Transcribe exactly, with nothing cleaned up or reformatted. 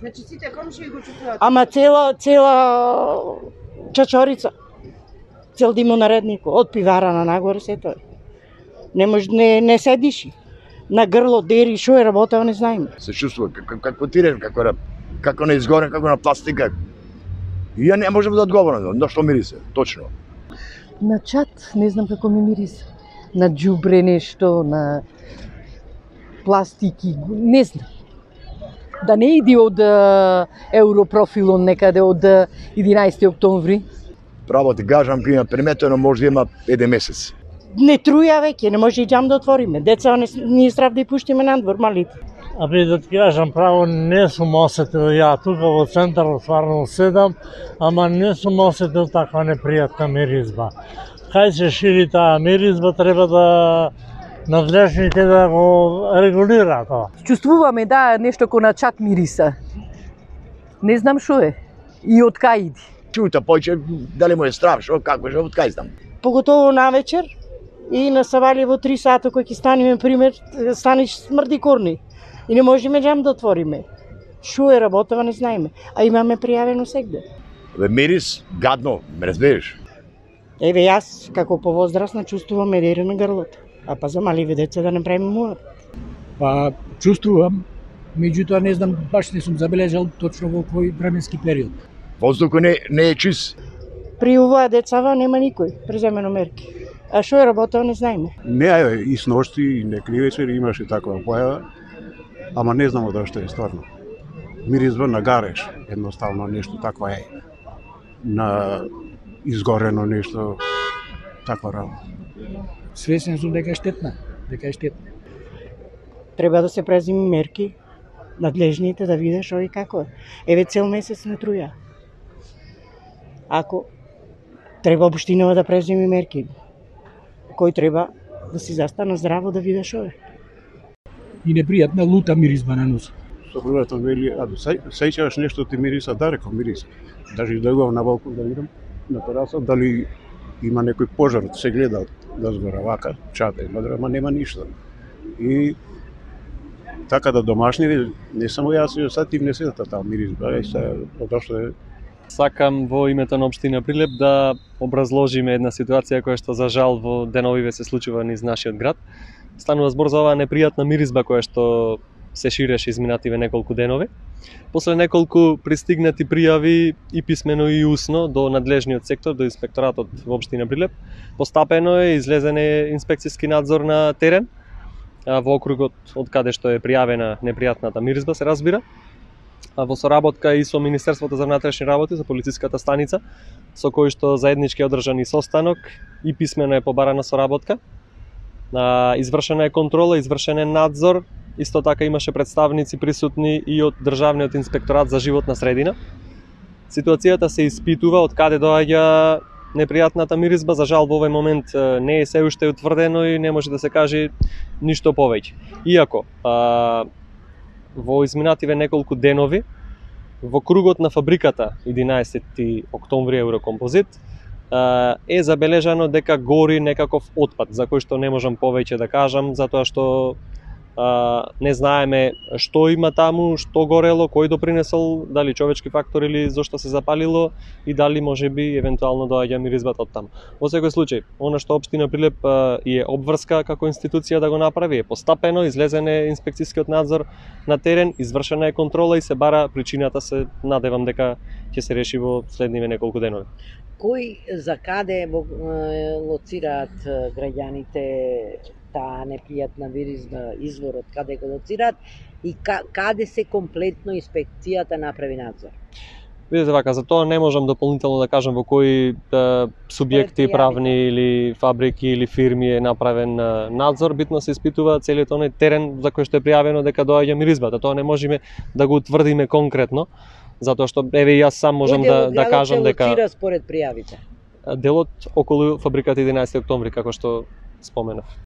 Значи сите комшии го чувствуваат. Ама цела цела чачорица. Цел димонаредник од пивара на нагоре се тоа. Не може не не седиш. На грло дери што е работео не знаеме. Се чувствува како како тирен, како на како на изгорен, како на пластика. И ја не можам да одговорам на што мирисе, точно. На чат, не знам како ми мирисе. На џубре нешто, на пластики, не знам. Да не иди од Европрофилон некаде од единаесети октомври. Право ти кажам, ќе има приметено може да има еден месец. Не труја веќе, не може и џам да отвориме. Деца не ние страв да и пуштиме надвор малите. Абе да ти кажам право, не сум осетил ја тука во центарот стварно седам, ама не сум осетил таква непријатна миризба. Кај се шири таа миризба, треба да надлежните да го регулираат тоа. Чувствуваме да нешто ко на чат мириса. Не знам што е и од кај иди. Чута поќе дали му е страв, што како што од кај знам. Поготово навечер и на Савалјево три сата кој ќе станеме пример, станиш смрди корни. И не можеме џам да отвориме. Шо е работава не знаеме, а имаме пријавено сегде. Бе мирис гадно, ме разбереш? Еве јас како повозрасна чувствувам медере на грлото. А па за маливе деца да не правиме муабет. Па чувствувам, меѓутоа не знам, баш не сум забележал точно во кој временски период. Воздухот не не е чист. При оваа децава нема никој преземено мерки. А што е работео не знаеме. Не е и сношти и некој вечер имаше таква појава, ама не знам од што е стварно. Миризба на гареш, едноставно нешто таква е. На изгорено нешто таква работа. Свесен сум дека е штетна, дека е штетна. Треба да се преземи мерки, надлежните да видат што и како е. Еве цел месец не труја. Ако треба општинава да преземи мерки, кој треба да си застана здраво да види што е. И непријатна лута миризба на нос. Сопругата вели, а сеќаваш нешто ти мириса, да реков мириса. Даже излегувам на балкон да видам на тераса дали има некој пожар, се гледа да згора вака, чата и мадра, ама нема ништо. И така да домашни, не само јас, и сад и внесете таа миризба, и се одошто е. Сакам во името на општина Прилеп да образложиме една ситуација која што за жал во деновиве се случува низ нашиот град. Станува збор за оваа непријатна миризба која што се ширеше изминативе неколку денови. После неколку пристигнати пријави и писмено и усно до надлежниот сектор, до инспекторатот во општина Прилеп, постапено е излезен е инспекцијски надзор на терен во округот од каде што е пријавена непријатната миризба, се разбира. Во соработка и со Министерството за внатрешни работи, за полициската станица, со кој што заеднички одржан и состанок и писмено е побарана соработка. Извршена е контрола, извршен е надзор, исто така имаше представници присутни и од Државниот инспекторат за животна средина. Ситуацијата се испитува од каде доаѓа непријатната миризба, за жал во овој момент не е се уште утврдено и не може да се каже ништо повеќе. Иако а, во изминативе неколку денови во кругот на фабриката единаесети октомври Еврокомпозит е забележано дека гори некаков отпад, за кој што не можам повеќе да кажам, затоа што а, не знаеме што има таму, што горело, кој допринесол, дали човечки фактор или зошто се запалило и дали можеби евентуално доаѓа миризбата од таму. Во секој случај, она што општина Прилеп а, е обврска како институција да го направи е постапено, излезен е инспекцијскиот надзор на терен, извршена е контрола и се бара причината, се надевам дека ќе се реши во следниве неколку денови. Кој за каде лоцираат граѓаните таа непријатна миризба, изворот каде го лоцираат и каде се комплетно инспекцијата направи надзор? Видите вака, за тоа не можам дополнително да кажам во кои да, субјекти правни или фабрики или фирми е направен надзор. Битно се испитува целиот оној терен за кој што е пријавено дека доаѓа миризбата. Тоа не можеме да го утврдиме конкретно, затоа што еве јас сам можам да да кажам дека Кој дел од според пријавите? Делот околу фабриката единаесети октомври, како што споменав.